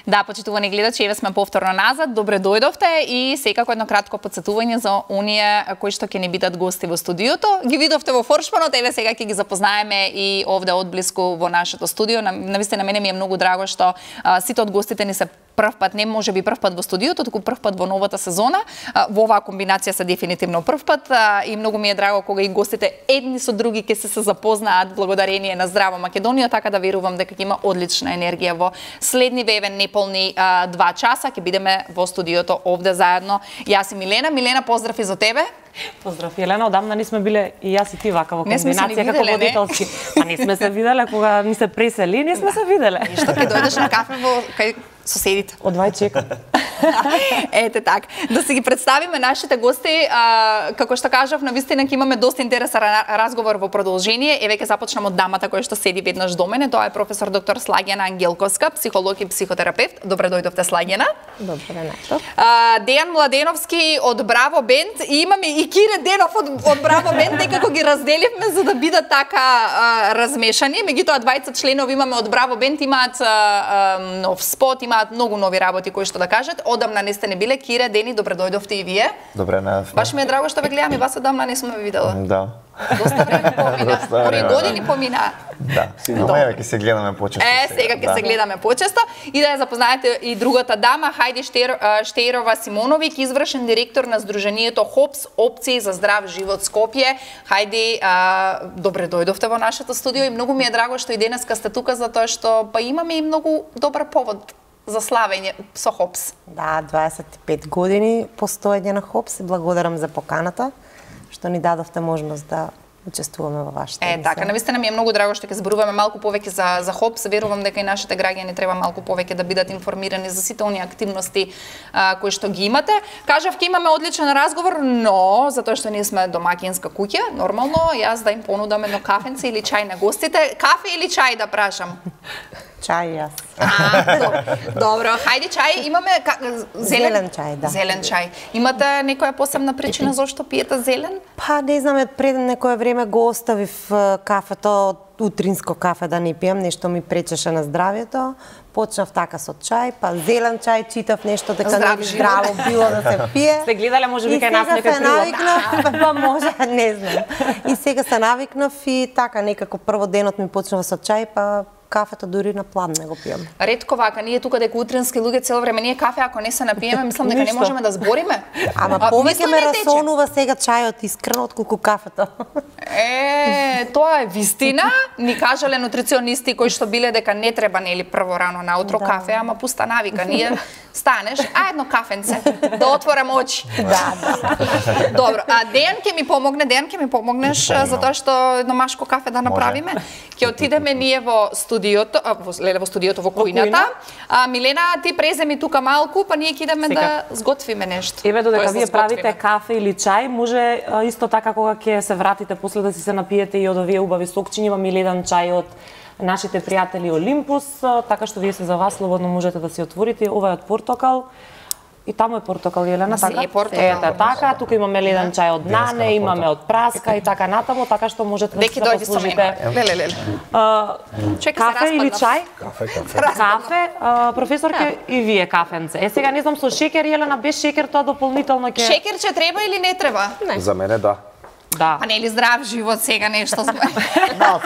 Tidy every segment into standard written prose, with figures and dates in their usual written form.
Да, почитувани гледачи, еве сме повторно назад. Добре дојдовте и секако едно кратко потсетување за оние кои што ќе ни бидат гости во студиото. Ги видовте во форшманот, еве сега ќе ги запознаеме и овде одблиску во нашето студио. Навистина мене ми е многу драго што сите од гостите ни се прв пат, не може би прв пат во студиото, туку прв пат во новата сезона. Во оваа комбинација се дефинитивно прв пат и многу ми е драго кога и гостите едни со други ќе се запознаат благодарение на Здраво Македонија, така да верувам дека ќе има одлична енергија во следни вевен неполни 2 часа. Ќе бидеме во студиото овде заедно. Јас и Милена. Милена, поздрав и за тебе. Поздрав, Елена, одамна не сме биле и јас и ти вака во комбинација како водителски. Па не сме се виделе кога ни се пресели, не сме се виделе. Што ќе дојдеш на кафе во кај соседите? Одвај чекам. Ете така. Да се ги представиме нашите гости, како што кажав, навистина ќе имаме доста интересен разговор во продолжение. Еве ќе започнам од дамата која што седи веднаш до мене. Тоа е професор доктор Слагјана Ангелковска, психолог и психотерапевт. Добре дојдовте, Слагјана. Добре најто. Дејан Младеновски од Браво Бенд и имаме и Кире Денов од Браво Бенд, некако ги разделивме за да бидат така размешани. Меѓутоа двајца членови имаме од Браво Бенд, имаат нов спот, имаат многу нови работи кои што да кажат. Одамна не сте не биле. Кире, Дени, добре дојдовте и вие. Добре, најавме. Баш ми е драго што ве гледам и вас одамна не сме ве видела. Да. Доста време помина. Три години помина. Да, ама еве ќе се гледаме почесто. Сега ќе се гледаме почесто и да ја запознаете и другата дама, Хајди Штејрова Симоновиќ, извршен директор на Сдруженијето ХОПС, опции за здрав живот Скопје. Хајди, добре дојдовте во нашето студио и многу ми е драго што и денеска сте тука затоа што па имаме и многу добар повод за славење со ХОПС. Да, 25 години постоење на ХОПС и благодарам за поканата што ни дадовте можност да учествуваме во вашата емисија. Така, навистина ми е многу драго што ќе зборуваме малку повеќе за ХОПС. Верувам дека и нашите граѓани треба малку повеќе да бидат информирани за сите оние активности кои што ги имате. Кажав ќе имаме одличен разговор, но затоа што ние сме домакинска куќа, нормално јас да им понудам едно кафенце или чај на гостите. Кафе или чај да прашам? Чај јас. Добро, хајде чај, имаме зелен чај, да. Зелен чај. Имате некоја посебна причина зошто пиете зелен? Па не знам, пред некое време го оставив кафето, утринско кафе да не пијам, нешто ми пречеше на здравјето. Почнав така со чај, па зелен чај, читав нешто дека не здраво било да се пие. Сте гледале можеби кај нас некој прилог? Па може, не знам. И сега се навикнав и така некако прво денот ми почнува со чај, па кафето дури на план не го пијам. Ретко вака, ние тука дека утрински луѓе цело време ние кафе ако не се напиеме, мислам дека не можеме да збориме. Ама повеќе ме расонува сега чајот искрено отколку кафето. Тоа е вистина. Ни кажале нутриционисти кои што биле дека не треба нели прво рано наутро кафе, ама пуста навика. Ние станеш, едно кафенце да отворам очи. Да. Добро, Дејан ќе ми помогне, помогнеш затоа што едно машко кафе да направиме. Ќе отидеме ние во студиото, во кујната. Милена, ти преземи тука малку, па ние ќе идеме да сготвиме нешто. Еве додека вие правите кафе или чај, може исто така кога ќе се вратите после да си се напиете и од овие убави сокчиња, имам или еден чај од нашите пријатели Олимпус, така што вие се за вас слободно можете да си отворите. Ова е од портокал. И таму е портокал, Елена, така? Ете, така, тука имаме еден чај од нане, имаме од праска и така натаму, така што можете да се послужите. Кафе или чај? Кафе, професорке, и вие кафенце. Сега не знам со шекер, Елена, без шекер тоа дополнително ќе... Шекерче треба или не треба? За мене да. Да. Па нели здрав живот сега нешто сме. Да,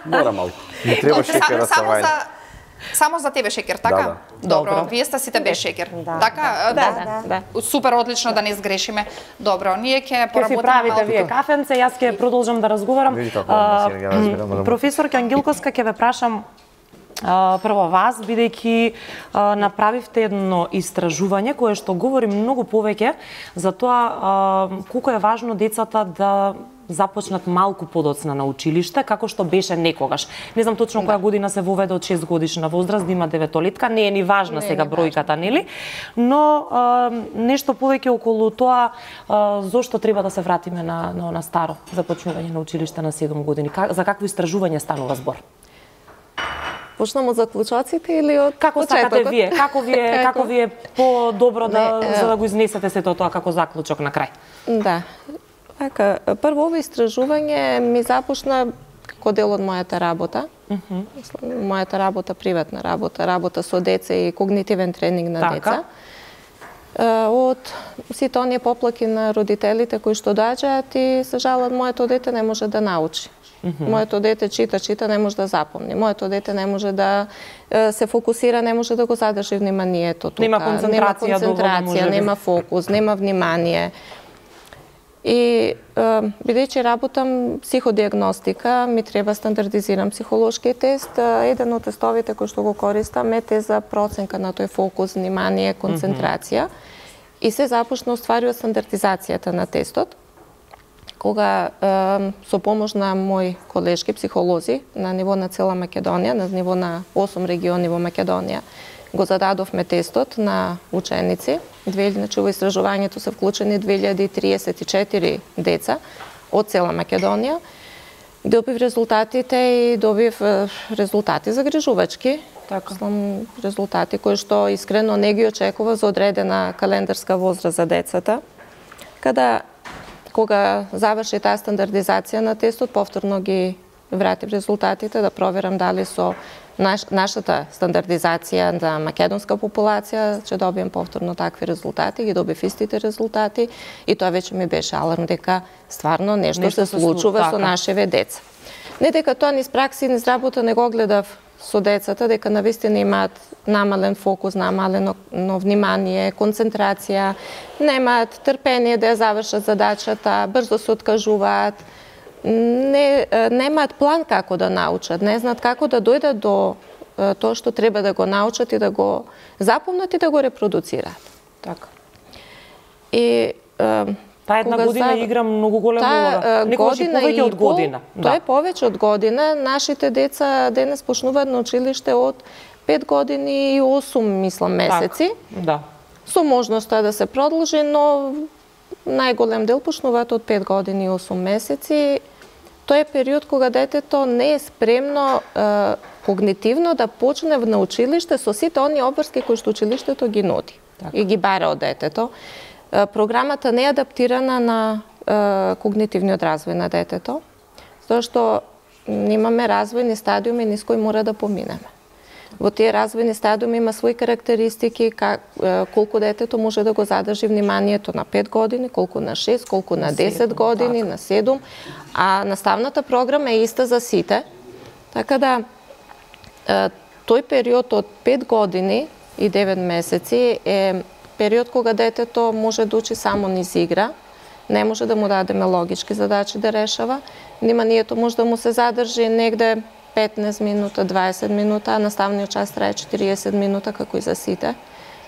мора малку. Не треба шекера са вајн. Само за тебе шекер, така? Добро, вие сте сите без шекер. Така? Да. Супер, одлично да не сгрешиме. Добро, ние ќе поработиме малку. Ќе си правите вие кафенце, јас ќе продолжам да разговарам. Професорке Ангелковска, ќе ве прашам прво вас, бидејќи направивте едно истражување кое што говори многу повеќе за тоа колку е важно децата да започнат малку подоцна на училиште, како што беше некогаш. Не знам точно која година се воведе од 6 годишна возраст, да има деветолетка, не е ни важна сега бројката, нели? Но нешто повеќе околу тоа зошто треба да се вратиме на старо започнување на училиште на 7 години. За какво истражување станува збор? Почнемо од заклучоците или од како сакате вие? Како ви е по-добро за да го изнесете сето тоа како заклучок на крај? Да. Така, прво ова истражување ми започна како дел од мојата работа. Мојата работа, приватна работа со деца и когнитивен тренинг на деца. Од сите оние поплаки на родителите кои што доаѓаат и се жалат, моето дете не може да научи. Моето дете чита, не може да запомни. Моето дете не може да се фокусира, не може да го задржи вниманието тука. Нема концентрација, нема фокус, нема внимание. И бидејќи работам психодиагностика, ми треба стандардизиран психолошки тест. Еден од тестовите кои што го користам е тест за проценка на тој фокус, внимание, концентрација. И се започна уствари од стандардизацијата на тестот, кога со помош на мои колешки психолози на ниво на цела Македонија, на ниво на 8 региони во Македонија, го зададовме тестот на ученици. Значи во истражувањето се вклучени 2034 деца од цела Македонија. Добив резултатите и добив резултати загрижувачки. Резултати кои што искрено не ги очекува за одредена календарска возраст за децата. Кога заврши таа стандардизација на тестот, повторно ги вратив резултатите да проверам дали со нашата стандардизација за македонска популација ќе добием повторно такви резултати, ги добив истите резултати и тоа веќе ми беше аларм дека стварно нешто се случува со нашиве деца. Не дека тоа низ пракси, низ работа не го гледав со децата, дека навистина имаат намален фокус, намалено внимание, концентрација, немаат трпение да ја завршат задачата, брзо се откажуваат, немаат план како да научат, не знаат како да дојдат до тоа што треба да го научат и да го запомнат и да го репродуцираат. Така. И таа една година игра многу голема улога. Некогаш и повеќе од година. Тоа е повеќе од година. Нашите деца денес почнуваат на училиште од 5 години и 8, мислам, месеци. Да. Со можноста да се продолжи, но најголем дел почнуваат од 5 години и 8 месеци. Тоа е период кога детето не е спремно когнитивно да почне на училиште со сите оние обврски кои што училиштето ги нуди и ги бара од детето. Програмата не е адаптирана на когнитивниот развој на детето, затоа што имаме развојни стадиуми низ кои мора да поминеме. Во тие развојни стадиуми има своји карактеристики, колку детето може да го задржи вниманието на 5 години, колку на 6, колку на 10 години, на 7, а наставната програма е иста за сите. Така да, тој период од 5 години и 9 месеци е период кога детето може да учи само низ игра, не може да му дадеме логички задачи да решава, вниманието може да му се задржи негде 15 минута, 20 минута, а наставниот час трае 40 минута, како и за сите.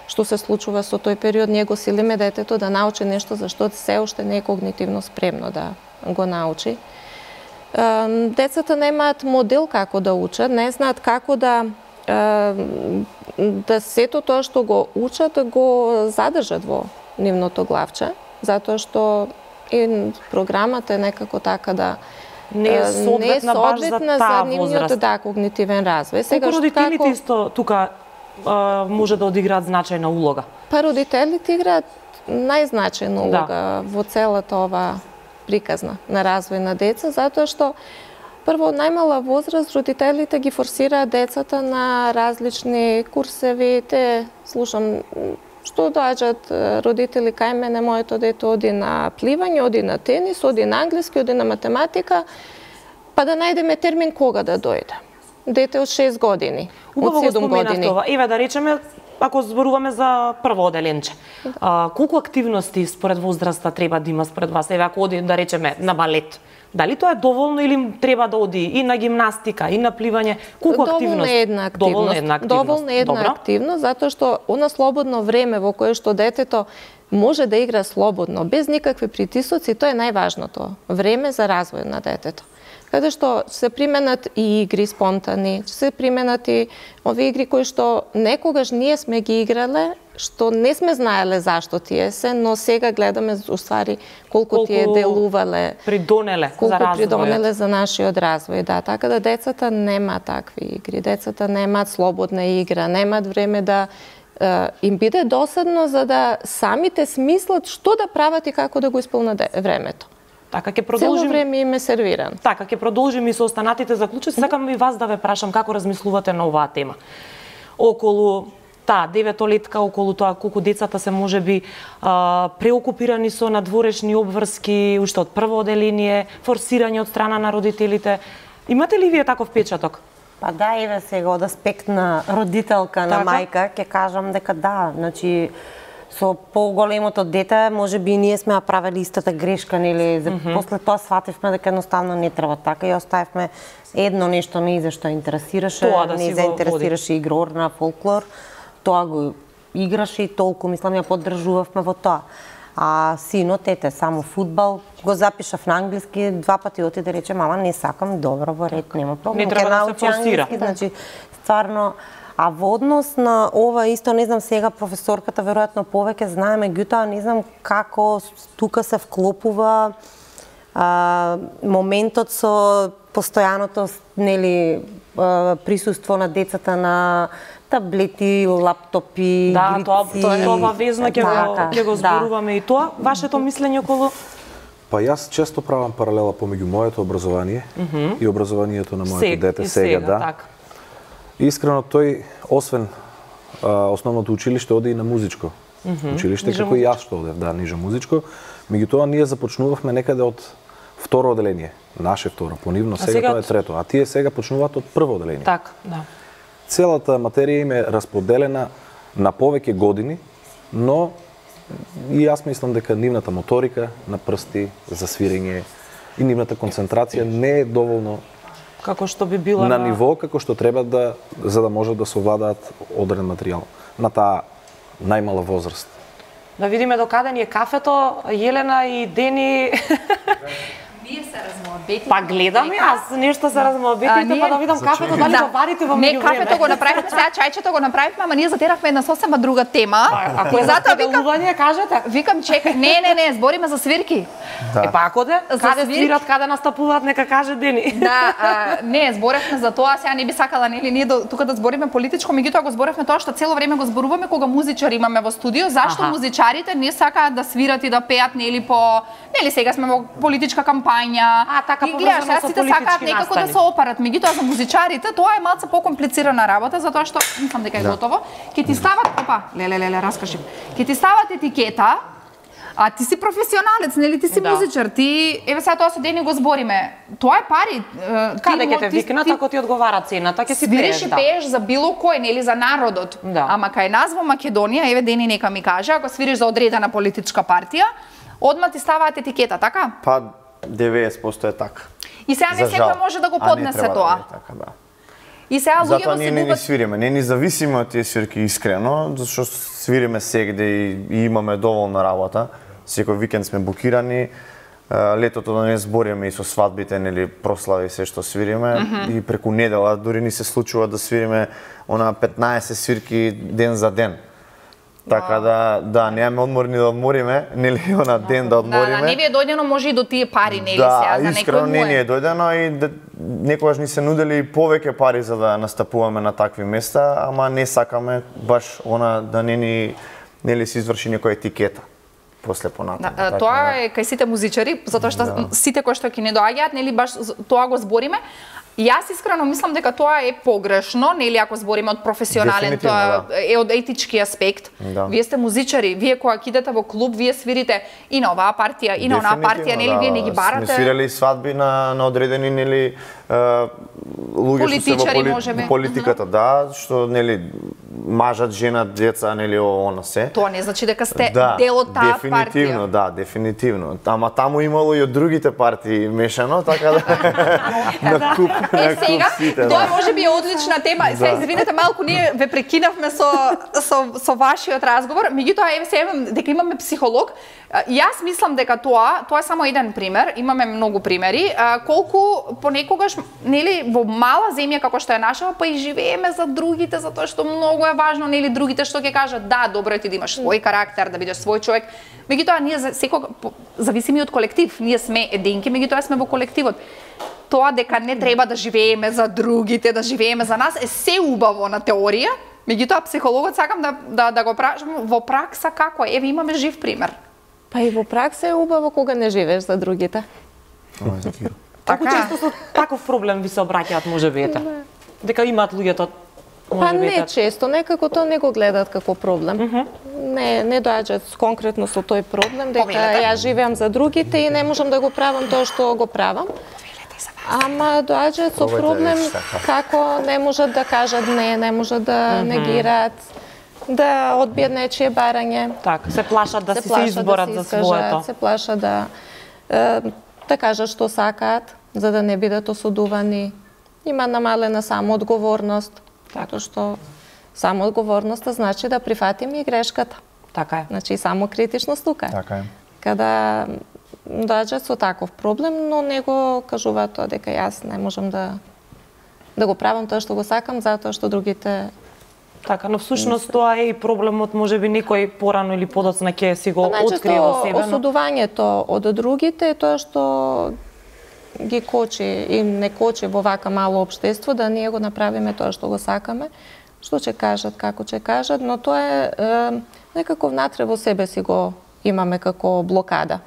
Што се случува со тој период, ние го силиме детето да научи нешто за што се уште не е когнитивно спремно да го научи. Децата немаат модел како да учат, не знаат како да сето тоа што го учат да го задржат во нивното главче, затоа што и програмата е некако така да не е соодветна баш за таа возраст. Да, когнитивен развој. Сега родителите исто тука може да одиграат значајна улога? Па родителите играат најзначајна улога во целата ова приказна на развој на деца, затоа што прво, од најмала возраст, родителите ги форсираат децата на различни курсеви. Те, слушам, што доаѓаат родители кај мене, моето дете оди на пливање, оди на тенис, оди на англиски, оди на математика, па да најдеме термин кога да дојде. Дете од 6 години, од 7 години. Това. Еве да речеме, ако зборуваме за прво оделенче, колку активности според возраста треба да има според вас? Еве ако оди да речеме на балет, дали тоа е доволно или треба да оди и на гимнастика, и на пливање? Колку активност? Доволно една активност, затоа што она слободно време во кое што детето може да игра слободно, без никакви притисоци, тоа е најважното. Време за развој на детето. Каде што се применат и игри спонтани, се применат и овие игри кои што некогаш ние сме ги играле, што не сме знаеле зашто тие се, но сега гледаме уствари колку тие делувале, придонеле за нашиот развој. Да, така да децата нема такви игри, децата немаат слободна игра, немаат време да им биде досадно за да самите смислат што да прават и како да го исполнат времето. Така ќе продолжим. Цело време им е сервиран. Така ќе продолжим и со останатите заклучоци. Сакам и вас да ве прашам како размислувате на оваа тема. Околу таа деветолетка, околу тоа колку децата се можеби преокупирани со надворешни обврски, уште од прво оделение, форсирање од страна на родителите. Имате ли вие таков впечаток? Па да, еве сега од аспект на родителка, на мајка, ќе кажам дека да, значи со поголемото дете, можеби и ние сме направили истата грешка, нели, после тоа свативме дека едноставно не треба така и оставивме едно нешто не зашто интересираше, не заинтересираше игрор на фолклор, тоа го играше и толку, мислам, ја поддржувавме во тоа. А синот, ете, само фудбал, го запишав на англиски, 2 пати отиде, рече, мама, не сакам, добро, во ред, нема проблем. Не треба да се форсира. Значи, стварно, а во однос на ова исто, не знам сега, професорката веројатно повеќе знае, меѓутоа не знам како тука се вклопува моментот со постојаното, нели, присуство на децата на таблети, лаптопи, да, грици. Тоа везно ќе го зборуваме и тоа. Вашето мислење околу? Па јас често правам паралела помеѓу моето образование и образованието на моето дете сега, да. Так. Искрено тој, освен основното училиште, оди и на музичко училиште, како и јас што одев, да, ниже музичко. Меѓутоа ние започнувавме некаде од второ оделение, наше второ, понивно сега тоа е трето, а тие сега почнуваат од прво оделение. Так, да. Целата материја им е расподелена на повеќе години, но и јас мислам дека нивната моторика на прсти за свирење и нивната концентрација не е доволно како што би била на ниво како што треба да за да може да совладаат одреден материјал на таа најмала возраст. Да видиме до каде ни е кафето, Јелена и Дени. Вие се размоабетите. Па гледам јас, нешто се размоабетите, па да видам кафето дали го варите во меѓувреме. Не, кафето го направивме, сега чајчето го направивме, ама ние затеравме една сосема друга тема. Ако е затоа викам, кажете. Викам чекај, не, збориме за свирки. Да. Е па ако каде свират, каде настапуваат, нека каже Дени. Да, не, зборевме за тоа, сега не би сакала нели ние тука да збориме политичко, меѓутоа го зборевме тоа што цело време го зборуваме кога музичари имаме во студио, зашто музичарите не сакаат да свират и да пеат нели по нели сега сме во политичка кампања. Така и гледаш, сите сакаат некако да се опарат, меѓутоа за музичарите тоа е малце покомплицирана работа затоа што мислам дека е готово. Ќе ти стават, раскажи. Ќе ти стават етикета. А ти си професионалец, нели ти си музичар, ти еве сега тоа со Дени го збориме. Тоа е пари. Каде ќе те викнат ако ти одговара цената, ќе си свириш и пееш за било кој, нели за народот. Ама кај нас во Македонија, еве Дени нека ми каже, ако свириш за одредена политичка партија, одма ти ставаат етикета, така? Па 90% е така. И сега не секој може да го поднесе тоа. И сега луѓето затоа ние не ни свириме, не ни зависиме од тие свирки искрено, зашто свириме сегде и имаме доволна работа. Секој викенд сме букирани. Летото да не збориме и со свадбите, нели прослави се што свириме и преку недела дури ни се случува да свириме она 15 свирки ден за ден. Така да немаме одмор ни да одмориме, нели она ден да одмориме. Да, не ви е дојдено може и до тие пари, нели сега за некој. Да, искрено не ни е дојдено и некогаш ни се нудели повеќе пари за да настапуваме на такви места, ама не сакаме баш она да не ни нели се изврши некоја етикета после понатаму. Тоа е кај сите музичари, затоа што сите кои што ќе не доаѓаат, нели баш тоа го збориме. Јас искрено мислам дека тоа е погрешно, нели ако збориме од професионален, тоа е од етички аспект. Вие сте музичари, вие кога кидете во клуб, вие свирите и на оваа партија, и на онаа партија, нели вие не ги барате. Сме свирали свадби на одредени нели луѓе што се во политиката, да, што нели мажат, женат, деца, нели она се. Тоа не значи дека сте дел од таа партија. Дефинитивно, да, дефинитивно. Ама таму имало и од другите партии мешано, така на куп. Сега, тоа може би е одлична тема. Сега извинете малку, ние ве прекинавме со вашиот разговор, меѓутоа еве сега дека имаме психолог. Јас мислам дека тоа е само еден пример, имаме многу примери, колку понекогаш нели во мала земја како што е наша, па и живееме за другите затоа што многу е важно нели другите што ќе кажат да, добро е ти да имаш свој карактер, да бидеш свој човек. Меѓутоа ние секогаш зависиме од колектив, ние сме единки, меѓутоа сме во колективот. Тоа дека не треба да живееме за другите, да живееме за нас е се убаво на теорија, меѓутоа психологот сакам да го прашам во пракса како е. Еве имаме жив пример. Па и во пракса е убаво кога не живееш за другите. Како често со таков проблем ви се обраќаат можебите? Дека имаат луѓето Па не често, некако тоа не го гледат како проблем. Не доаѓаат конкретно со тој проблем, дека ја живеам за другите и не можам да го правам тоа што го правам. Ама доаѓаат со проблем како не можат да кажат не можат да негираат, да одбијат нечие барање. Така, се плашат да се изборат за своето. Се плашат да кажат што сакаат, за да не бидат осудувани. Има намалена самоодговорност. Така што самоодговорноста значи да прифатиме и грешката. Така е. Значи само критичност тука е. Така е. Када доаѓаат со таков проблем, но не го кажуваат тоа дека јас не можам да го правам тоа што го сакам затоа што другите. Така, но всушност тоа е и проблемот, можеби некој порано или подоцна ќе си го открие во себе. Осудувањето од другите е тоа што ги кочи и не кочи во вака мало општество да ние го направиме тоа што го сакаме, што ќе кажат, како ќе кажат, но тоа е некако внатре во себе си го имаме како блокада.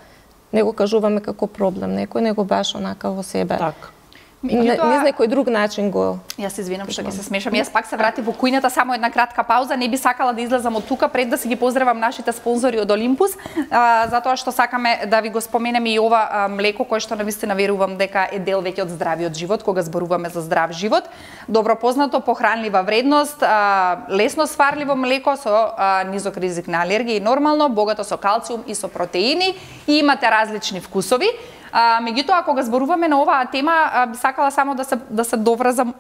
Не го кажуваме како проблем, некој него баш онака во себе. Така. Низ некој друг начин го... Јас се извинам што ќе се смешам. Јас пак се вратив во кујната, само една кратка пауза. Не би сакала да излезам од тука пред да си ги поздравам нашите спонзори од Олимпус, затоа што сакаме да ви го споменеме и ова млеко кое што навистина верувам дека е дел веќе од здравиот живот, кога зборуваме за здрав живот. Добро познато, похранлива вредност, лесно сварливо млеко со низок ризик на алергија и нормално, богато со калциум и со протеини и имате различни вкусови. Меѓутоа, кога зборуваме на оваа тема, би сакала само да се доврзам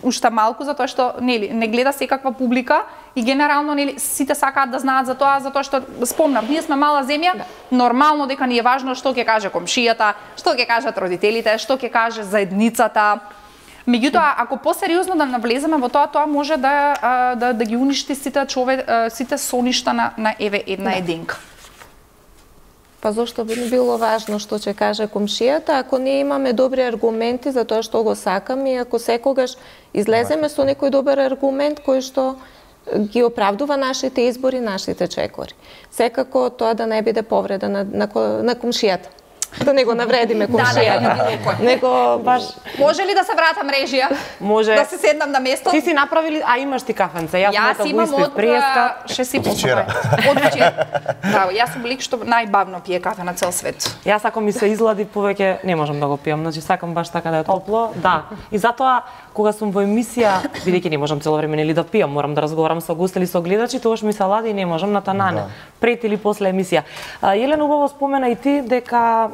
уште малку, затоа што не гледа секаква публика и генерално сите сакаат да знаат за тоа, затоа што спомнав, ние сме мала земја, нормално дека ни е важно што ќе каже комшијата, што ќе кажат родителите, што ќе каже заедницата. Меѓутоа, ако посериозно да навлеземе во тоа може да ги уништи сите соништа на еве една единка. Па зошто би било важно што ќе каже комшијата, ако ние имаме добри аргументи за тоа што го сакаме и ако секогаш излеземе со некој добар аргумент кој што ги оправдува нашите избори, нашите чекори. Секако тоа да не биде повреда на комшијата. Да не го навредиме комшијата. Него баш може ли да се вратам режија? Може. Да се седнам на место? Ти си направили, имаш ти кафенце. Јас имам од ше си вчера. Од вчера. Браво, јас сум лик што најбавно пие кафе на цел свет. Јас ако ми се излади повеќе не можам да го пијам, значи сакам баш така да е топло. Да. И затоа кога сум во емисија, бидејќи не можам цело време нели да пијам, морам да разговарам со гости или со гледачи, тогаш ми се лади и не можам на танане. Пред или после емисија. Елена убаво спомена и ти дека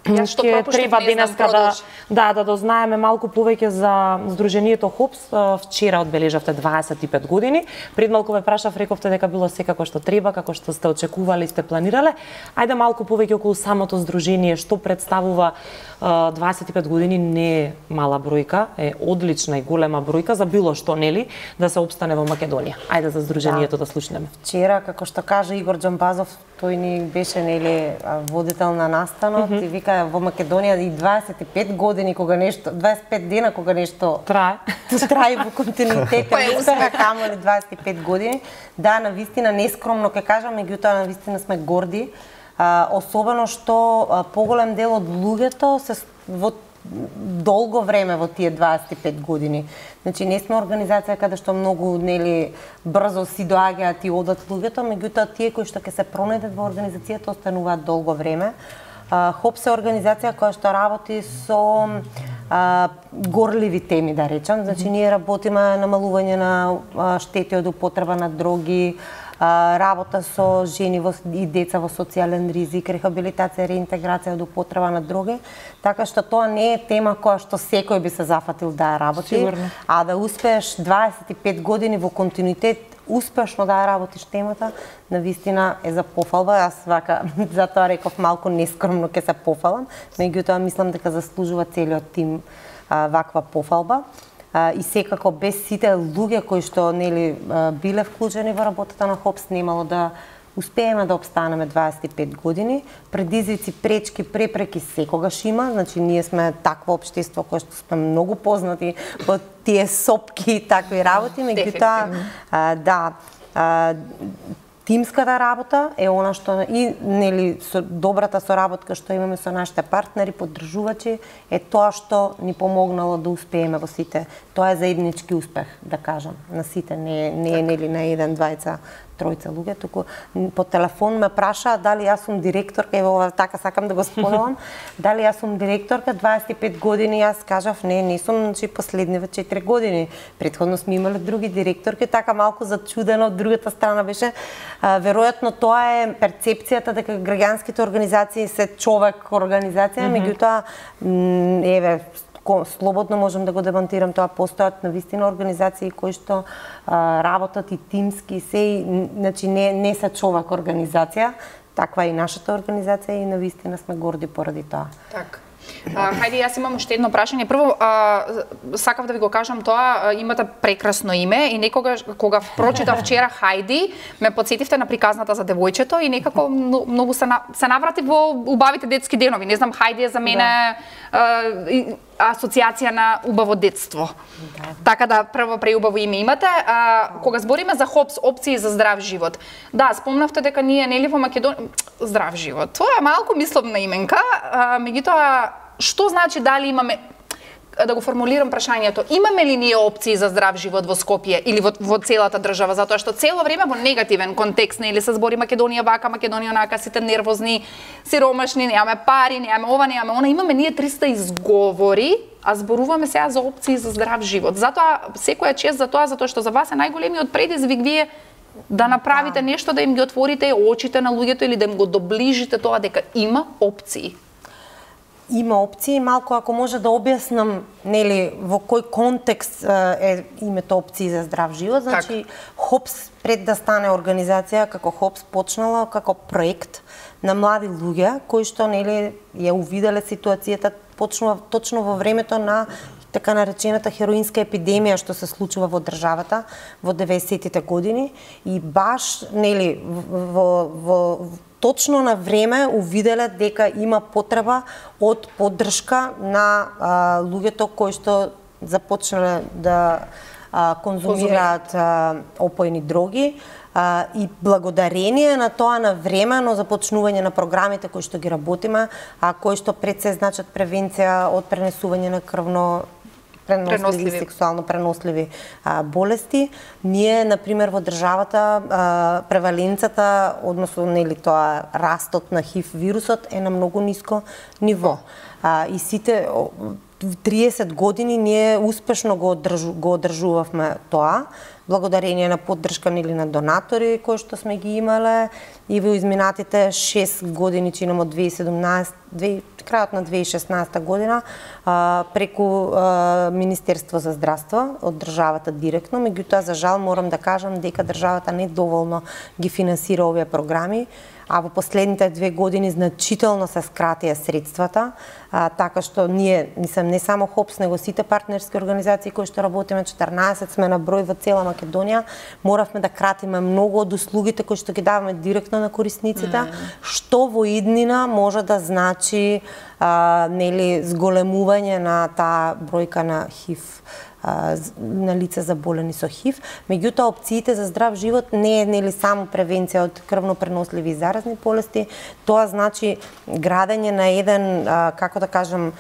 ќе треба денеска да дознаеме малку повеќе за Сдруженијето ХОПС. Вчера одбележавте 25 години. Пред малку ве прашав, рековте дека било секако што треба, како што сте очекувале и сте планирале. Ајде малку повеќе околу самото здружение, што представува 25 години, не е мала бројка, е одлична и голема бројка за било што, нели, да се опстане во Македонија. Ајде за Сдруженијето да слушнеме. Вчера, како што кажа Игор Џамбазов, тој ни беше нели водител на настанот и вика во Македонија и 25 години кога нешто, 25 дена кога нешто трае во континуитет, успеха камоли 25 години. Да, навистина нескромно ќе кажам, меѓутоа навистина сме горди, особено што поголем дел од луѓето се во долго време во тие 25 години. Значи не сме организација каде што многу нели брзо си доаѓаат и одат луѓето, меѓутоа тие кои што ќе се пронајдат во организацијата остануваат долго време. ХОПС е организација која што работи со горливи теми, да речам. Значи ние работиме намалување на штети од употреба на дроги, работа со жени и деца во социјален ризик, рехабилитација, реинтеграција од употреба на дроги, така што тоа не е тема која што секој би се зафатил да работи, сигурно. А да успееш 25 години во континуитет успешно да работиш темата, навистина е за пофалба. Јас вака затоа реков малку нескромно ќе се пофалам, меѓутоа мислам дека заслужува целиот тим ваква пофалба. И секако без сите луѓе кои што нели биле вклучени во работата на ХОПС немало да успееме да опстанеме 25 години. Предизвици, пречки, препреки секогаш има, значи ние сме такво општество кое што сме многу познати во тие сопки и такви работи, меѓутоа Тимската работа е она што и нели со добрата соработка што имаме со нашите партнери, поддржувачи, е тоа што ни помогнало да успееме во сите. Тоа е заеднички успех, да кажам, на сите, не е нели на еден, двајца, тројца луѓе, туку по телефон ме праша дали јас сум директорка, ево така сакам да го споделам, дали јас сум директорка, 25 години, јас кажав не сум, значи последниве 4 години. Претходно сме имале други директорки, така малку зачудено од другата страна беше. Веројатно тоа е перцепцијата дека граѓанските организации се човек организација, меѓутоа еве слободно можам да го демонтирам тоа, постојат навистина организации кои што работат и тимски се, значи не се човек организација, таква е и нашата организација и навистина сме горди поради тоа. Така. Хајде, јас имам уште едно прашање. Прво, сакав да ви го кажам тоа, имате прекрасно име и некогаш, кога прочитав вчера Хајди, ме подсетивте на приказната за девојчето и некако многу се навратив во убавите детски денови. Не знам, Хајди е за мене асоциација на убаво детство. Така да, прво преубаво име имате. Кога збориме за ХОПС, опции за здрав живот, да, спомнавте дека ние нели во Македонија здрав живот. Тоа е малку мисловна именка, меѓутоа што значи дали имаме, да го формулирам прашањето, имаме ли ние опции за здрав живот во Скопје или во целата држава, затоа што цело време во негативен контекст, нели се збори Македонија вака, Македонија онака, сите нервозни, сиромашни, немаме пари, немаме ова, немаме она, имаме ние 300 изговори, а зборуваме сега за опции за здрав живот. Затоа секоја чест за тоа, затоа што за вас е најголемиот предизвик вие да направите нешто, да им ги отворите очите на луѓето или да им го доближите тоа дека има опции. Има опции, малку ако може да објаснам, нели, во кој контекст е името опции за здрав живот. Значи, ХОПС пред да стане организација, како ХОПС почнала како проект на млади луѓе кои што нели ја увиделе ситуацијата точно во времето на така наречената хероинска епидемија што се случува во државата во 90-тите години и баш нели во точно на време увиделе дека има потреба од поддршка на луѓето кои што започнале да конзумираат опојни дроги и благодарение на тоа навремено започнување на програмите кои што ги работиме, кои што пред се значат превенција од пренесување на крвно преносливи, сексуално преносливи болести. Ние, например, во државата преваленцата, односно нели тоа растот на ХИВ вирусот е на многу ниско ниво. И сите 30 години ние успешно го одржувавме тоа, благодарение на поддршка нели на донатори кои што сме ги имале и во изминатите 6 години, чинам од 2017, крајот на 2016 година, преку Министерство за здравство од државата директно, меѓутоа за жал морам да кажам дека државата не доволно ги финансира овие програми, а во последните 2 години значително се скратија средствата, така што ние, не само ХОПС, него сите партнерски организации кои што работиме, 14 сме на број во цела Македонија, моравме да кратиме многу од услугите кои што ги даваме директно на корисниците, што во иднина може да значи нели зголемување на таа бројка на ХИВ, на лица заболени со ХИВ. Меѓутоа, опциите за здрав живот не е нели само превенција од крвно преносливи и заразни болести, тоа значи градење на еден, како да кажам,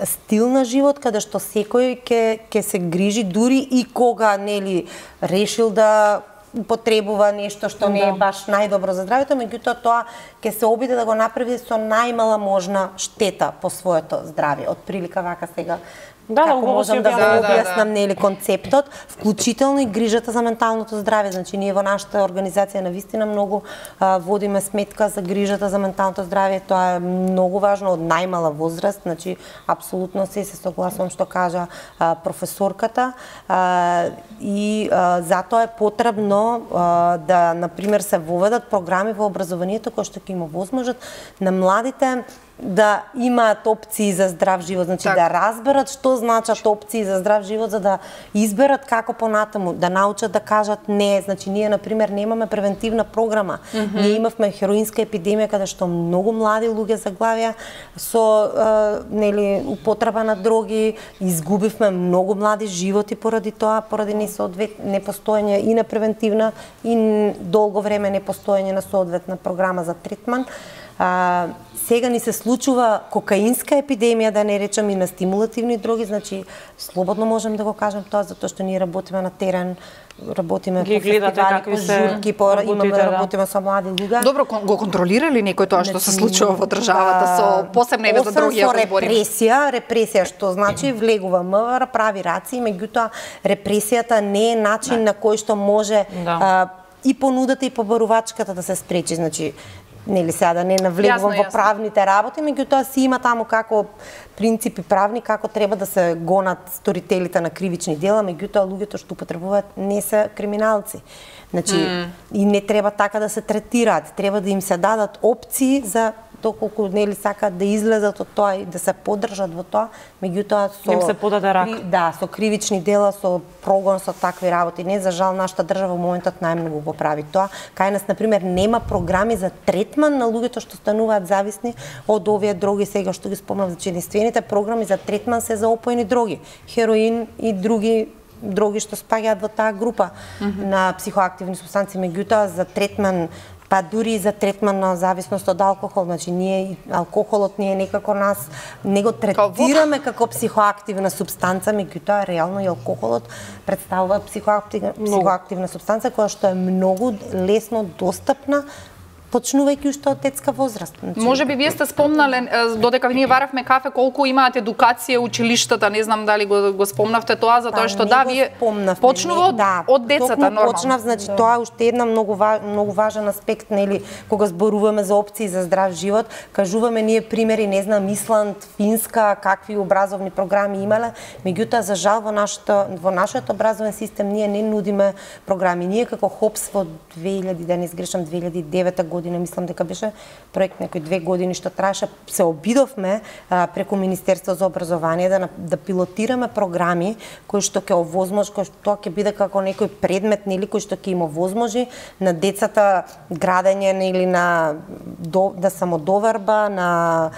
стил на живот каде што секој ќе се грижи дури и кога нели решил да употребува нешто што не е баш најдобро за здравјето, меѓутоа тоа ќе се обиде да го направи со најмала можна штета по своето здравје. Од прилика вака сега како можам да го објаснам нели концептот, вклучително и грижата за менталното здравје. Значи ние во нашата организација навистина многу водиме сметка за грижата за менталното здравје. Тоа е многу важно од најмала возраст, значи апсолутно се согласувам што кажа професорката и затоа е потребно да на пример се воведат програми во образованието кои што ќе им овозможат на младите да имаат опции за здрав живот, значи да разберат што значат опции за здрав живот, за да изберат како понатаму, да научат да кажат не. Значи ние на пример немаме превентивна програма. Ние имавме хероинска епидемија каде што многу млади луѓе заглавија со нели употреба на дроги, изгубивме многу млади животи поради тоа, поради непостоење и на превентивна и долго време непостоење на соодветна програма за третман. Сега ни се случува кокаинска епидемија, да не речам и на стимулативни дроги, значи слободно можем да го кажем тоа, затоа што ние работиме на терен, работиме по фестивали, по журки, имаме да работиме со млади луѓе. Добро, го контролира ли некој тоа што се случува во државата со посебна еве за други ако збориме? Репресија, што значи влегува МВР, прави раци, меѓутоа репресијата не е начин на кој што може и понудата и побарувачката да се спречи, значи нели сега да не навлегувам во правните работи, меѓутоа си има таму како принципи правни како треба да се гонат сторителите на кривични дела, меѓутоа луѓето што употребуваат не се криминалци. Значи и не треба така да се третираат, треба да им се дадат опции за доколку нели сакаат да излезат од тоа и да се поддржат во тоа, меѓутоа со им се подаде рак. Со кривични дела, со прогон, со такви работи. Не, за жал нашата држава во моментот најмногу го прави тоа. Кај нас на пример нема програми за третман на луѓето што стануваат зависни од овие дроги, сега што ги спомнав, значи единствените програми за третман се за опојни дроги, хероин и други дроги што спаѓаат во таа група на психоактивни супстанции, меѓутоа за третман, па дури и за третман на зависност од алкохол, значи ние алкохолот ние некако нас не го третираме како психоактивна супстанца, меѓутоа реално и алкохолот представува психоактивна супстанца која што е многу лесно достапна почнувајќи уште од детска возраст. Може би вие сте спомнале, додека ние варавме кафе, колку имаат едукација училиштата, не знам дали го спомнавте тоа, затоа што вие почнува од децата нормално. Почнав, значи тоа уште една многу важен аспект, нели, кога зборуваме за опции за здрав живот, кажуваме ние примери, не знам, Исланд, Финска, какви образовни програми имале, меѓутоа за жал во нашиот образовен систем ние не нудиме програми. Ние како ХОПС во 2009 година, мислам дека беше проект некои 2 години што траеше, се обидовме преку Министерство за образование да пилотираме програми кои што ќе овозможи, кои што тоа ќе биде како некој предмет, нели, кој што ќе им овозможи на децата градење, нели, на да самодоверба, на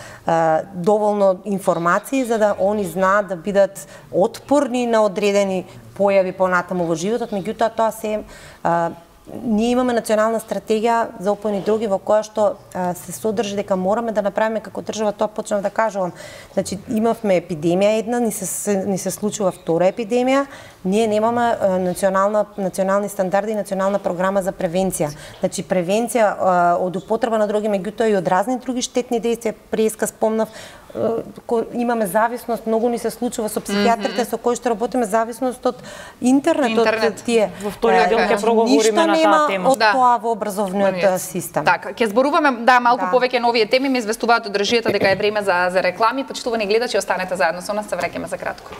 доволно информации за да они знаат да бидат отпорни на одредени појави понатаму во животот, меѓутоа тоа се ние имаме национална стратегија за опојни дроги во која што се содржи дека мораме да направиме како држава, тоа почнав да кажувам. Значи имавме епидемија една, ни се случува втора епидемија, ние немаме национални стандарди и национална програма за превенција. Значи превенција од употреба на дроги, меѓутоа и од разни други штетни дејства, преска спомнав, имаме зависност, многу ни се случува со психијатрите со кои што работиме, зависност од интернет. Од тие. Во вториот дел ќе проговориме на таа тема. Од тоа во образовниот систем. Така, ќе зборуваме малку повеќе на овие теми, ме известуваат од држијата дека е време за реклами. Почитувани гледачи, останете заедно со нас, се враќаме за кратко.